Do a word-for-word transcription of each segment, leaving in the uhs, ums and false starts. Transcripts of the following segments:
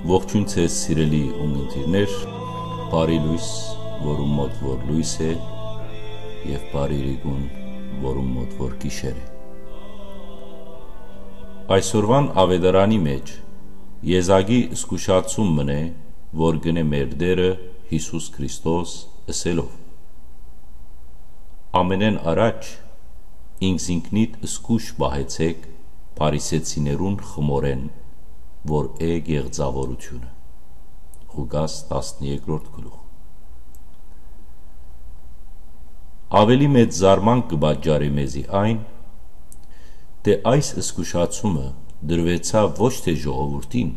Ողջույն ձեզ, սիրելի ունգընտիրներ, բարի լույս, որուն մոտ որ լույս է, եւ բարի իրիկուն, որուն մոտ որ գիշեր է։ Այսօրվան աւետարանի մէջ եզակի զգուշացում մըն է, որ կ'ընէ մեր Տէրը Յիսուս Քրիստոս, ըսելով. «Ամենէն առաջ ինքզինքնիդ զգոյշ պահեցէք Փարիսեցիներուն խմորէն, որ է կեղծաւորութիւնը»։ Ղուկաս տասներկրորդ գլուխ։ Աւելի մեծ զարմանք կը պատճառի մեզի այն, թէ այս զգուշացումը տրուեցաւ ոչ թէ ժողովուրդին,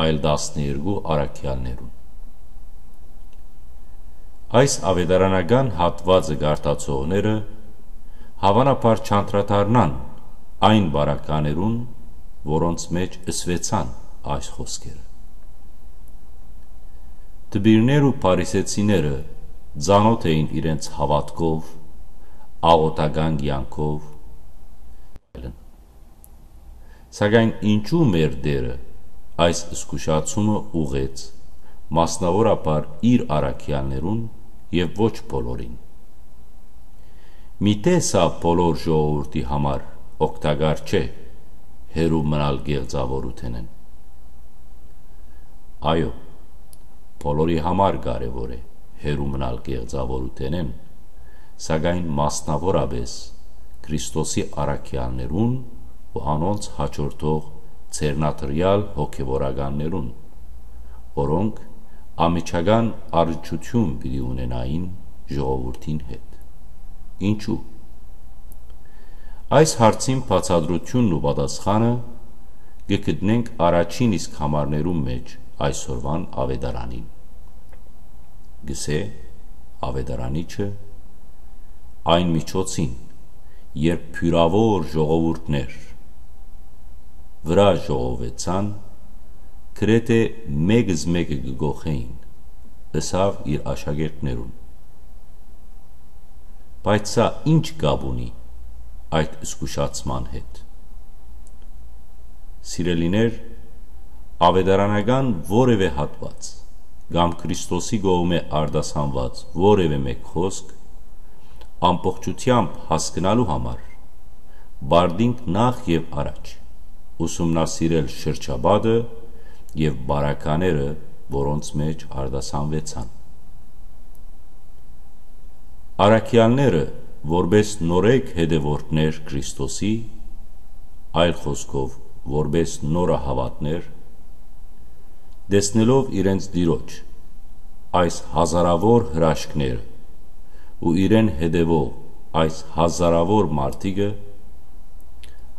այլ տասներկու առաքեալներուն։ Այս աւետարանական հատուածը կարդացողները հաւանաբար չանդրադառնան այն պարագաներուն, որոնց մէջ ըսուեցան այս խօսքերը։ Դպիրներ ու փարիսեցիները ծանօթ էին իրենց հաւատքով, աղօթական կեանքով, սակայն ինչո՞ւ մեր Տէրը այս զգուշացումը ուղղեց մասնաւորաբար իր առաքեալներուն եւ ոչ բոլորին։ Միթէ սա բոլոր ժողովուրդի համար օգտակար չէ՝ հեռու մնալ կեղծաւորութենէն։ Այո, բոլորի համար կարեւոր է հեռու մնալ կեղծաւորութենէն, սակայն մասնաւորապէս Քրիստոսի առաքեալներուն ու անոնց հաջորդող ձեռնադրեալ հոգեվորականներուն, որոնք անմիջական առնչութիւն պիտի ունենային ժողովուրդին հետ։ Ինչու՞։ Այս հարցին բացատրութիւնն ու պատասխանը կը գտնենք առաջին իսկ համարներուն մէջ այսօրուան աւետարանին։ Կ'ըսէ աւետարանիչը. «Այն միջոցին, երբ բիւրաւոր ժողովուրդներ վրայ ժողովուեցան, գրեթէ մէկզմէկը կը կոխէին», ըսաւ իր աշակերտներուն։ Բայց սա ի՞նչ կապ ունի այդ զգուշացման հետ։ Սիրելիներ, աւետարանական որեւէ հատուած կամ Քրիստոսի կողմէ արտասանուած որեւէ մէկ խօսք ամբողջութեամբ հասկնալու համար պարտինք նախ եւ առաջ ուսումնասիրել շրջապատը եւ պարագաները, որոնց մէջ արտասանուեցան։ Առաքեալները, որպէս նորեկ հետեւորդներ Քրիստոսի, այլ խօսքով, որպէս նորահաւատներ, տեսնելով իրենց Տիրոջ այս հազարաւոր հրաշքները ու իրեն հետեւող այս հազարաւոր մարդիկը,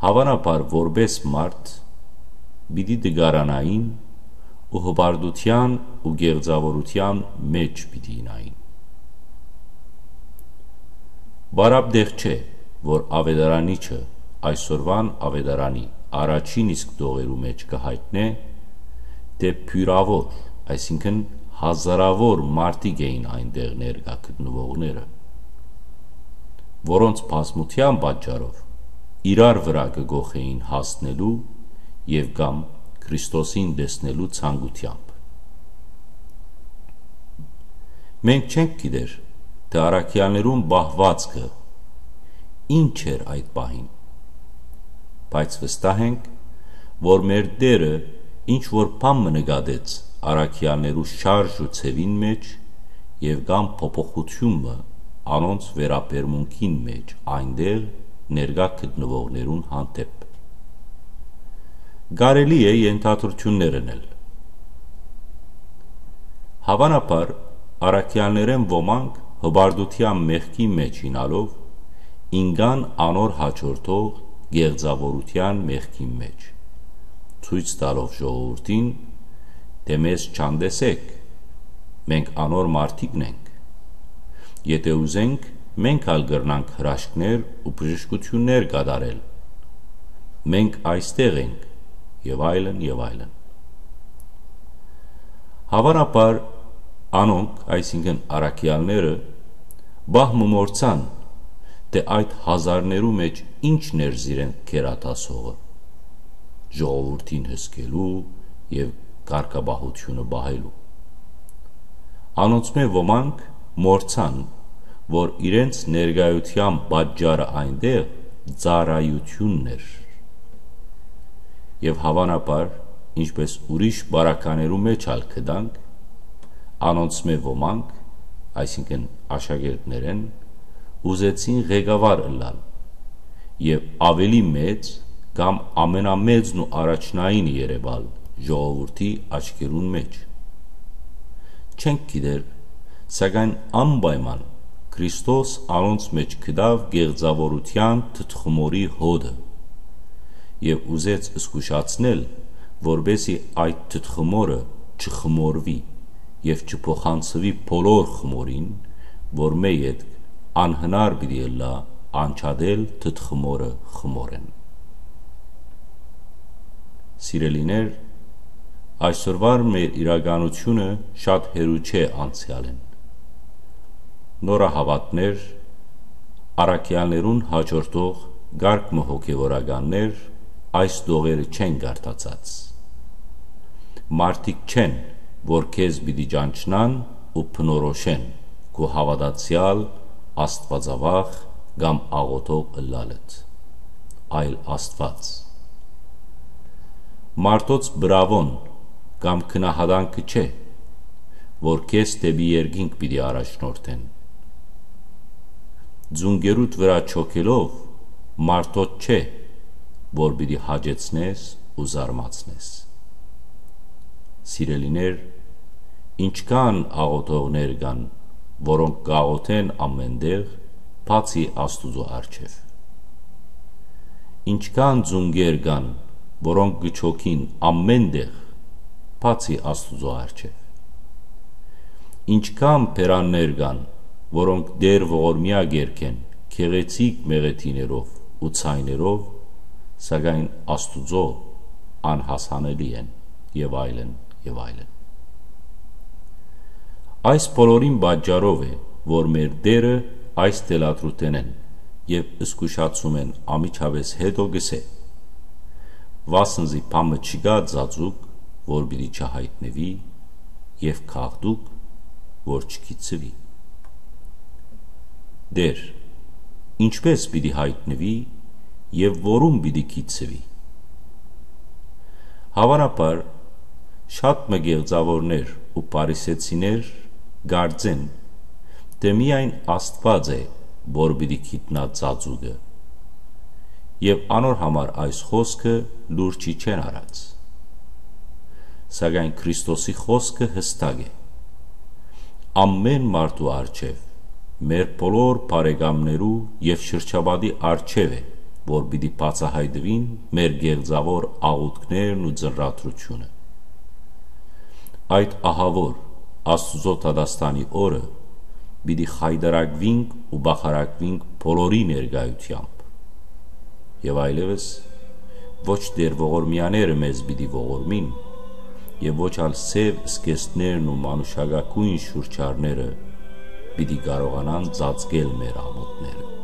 հաւանաբար որպէս մարդ պիտի տկարանային ու հպարտութեան ու կեղծաւորութեան մէջ պիտի իյնային։ Պարապ տեղ չէ, որ աւետարանիչը այսօրուան աւետարանի առաջին իսկ տողերու մէջ կը յայտնէ, թէ բիւրաւոր, այսինքն՝ հազարաւոր մարդիկ էին այնտեղ ներկայ գտնուողները, որոնց բազմութեան պատճառով իրար վրայ կը կոխէին հասնելու եւ կամ Քրիստոսին տեսնելու ցանկութեամբ։ Մենք չենք գիտեր, թէ առաքեալներուն պահուածքը ինչ էր այդ պահին, բայց վստահ ենք, որ մեր Տէրը ինչ որ բան մը նկատեց առաքեալներու շարժ ու ձեւին մէջ եւ կամ փոփոխութիւն մը անոնց վերաբերմունքին մէջ այնտեղ ներկայ գտնուողներուն հանդէպ։ Կարելի է ենթադրութիւններ ընել։ Հաւանաբար, առաքեալներէն ոմանք հպարտութեան մեղքի մէջ իյնալով, ինկան անոր հաջորդող կեղծաւորութեան մեղքին մէջ, ցոյց տալով ժողովուրդին, թէ մեզ չանտեսէք, մենք անոր մարդիկն ենք։ Եթէ ուզենք, մենք ալ կրնանք հրաշքներ ու բժշկութիւններ կատարել։ Մենք այստեղ ենք, եւ այլն, եւ այլն։ Հաւանաբար անոնք, այսինքն՝ առաքեալները, պահ մը մոռցան, թէ այդ հազարներու մէջ ինչն էր զիրեն գերադասողը՝ ժողովուրդին հսկելու եւ կարգապահութիւնը պահելու։ Անոնցմէ ոմանք մոռցան, որ իրենց ներկայութեան պատճառը այնտեղ ծառայութիւնն էր։ Եւ հաւանաբար, ինչպէս ուրիշ պարագաներու մէջ ալ գտանք, անոնցմէ ոմանք, այսինքն՝ աշակերտներէն, ուզեցին ղեկավար ըլլալ եւ աւելի մեծ կամ ամենամեծն ու առաջնայինը երեւալ ժողովուրդի աչքերուն մէջ։ Չենք գիտեր, սակայն անպայման Քրիստոս անոնց մէջ գտաւ կեղծաւորութեան թթխմորի հոտը եւ ուզեց զգուշացնել, որպէսզի այդ թթխմորը չխմորուի եւ չփոխանցուի բոլոր խմորին, որմէ ետք անհնար պիտի ըլլայ անջատել թթխմորը խմորէն։ Սիրելիներ, այսօրվա մեր իրականութիւնը շատ հեռու չէ անցեալէն։ Նորահաւատներ, առաքեալներուն հաջորդող կարգ մը հոգեվորականներ այս տողերը չեն կարդացած։ Մարդիկ չեն, որ քեզ պիտի ճանչնան ու բնորոշեն քու հաւատացեալ, աստուածավախ կամ աղօթող ըլլալդ, այլ Աստուած։ Մարդոց բրաւոն կամ գնահատանքը չէ, որ քեզ դէպի երկինք պիտի առաջնորդեն։ Ծունկերուդ վրայ չոքելով մարդոց չէ, որ պիտի հաճեցնես ու զարմացնես։ Սիրելիներ, ինչքան աղօթողներ կան, որոնք կաղօթեն ամէն տեղ, բացի Աստուծոյ առջեւ։ Ինչքան ծունկեր կան, որոնք կը չոքին ամէն տեղ, բացի Աստուծոյ առջեւ։ Ինչքան բերաններ կան, որոնք Տէր ողորմեայ կ'երգեն գեղեցիկ մեղեդիներով ու ձայներով, սակայն Աստուծոյ անհասանելի են, եւ այլն, եւ այլն։ Այս բոլորին պատճառով է, որ մեր Տէրը այս թելադրութենէն եւ զգուշացումէն անմիջապէս յետոյ կ'ըսէ. «Վասն զի բան մը չկայ ծածուկ, որ պիտի չյայտնուի, եւ գաղտուկ, որ չգիտցուի»։ Տէր, ինչպէ՞ս պիտի յայտնուի եւ որուն պիտի գիտցուի։ Հաւանաբար, շատ մը կեղծաւորներ ու փարիսեցիներ կարծեն, թէ միայն Աստուած է, որ պիտի գիտնայ ծածուկը, եւ անոր համար այս խօսքը լուրջ չի չեն առած։ Սակայն Քրիստոսի խօսքը յստակ է։ Ամէն մարդու առջեւ, մեր բոլոր բարեկամներու եւ շրջապատի առջեւ է, որ պիտի բացայայտուին մեր կեղծաւոր աղօթքներն ու ծնրադրութիւնը։ Այդ ահաւոր Աստուծոյ դատաստանի օրը պիտի խայտառակուինք ու բախարակուինք բոլորի ներկայութեամբ։ Եւ այլեւս ոչ Տէր ողորմեաները մեզ պիտի ողորմին, եւ ոչ ալ սեւ սկեզբներն ու մանուշակագոյն շուրջարները պիտի կարողանան ծածկել մեր ամօթները։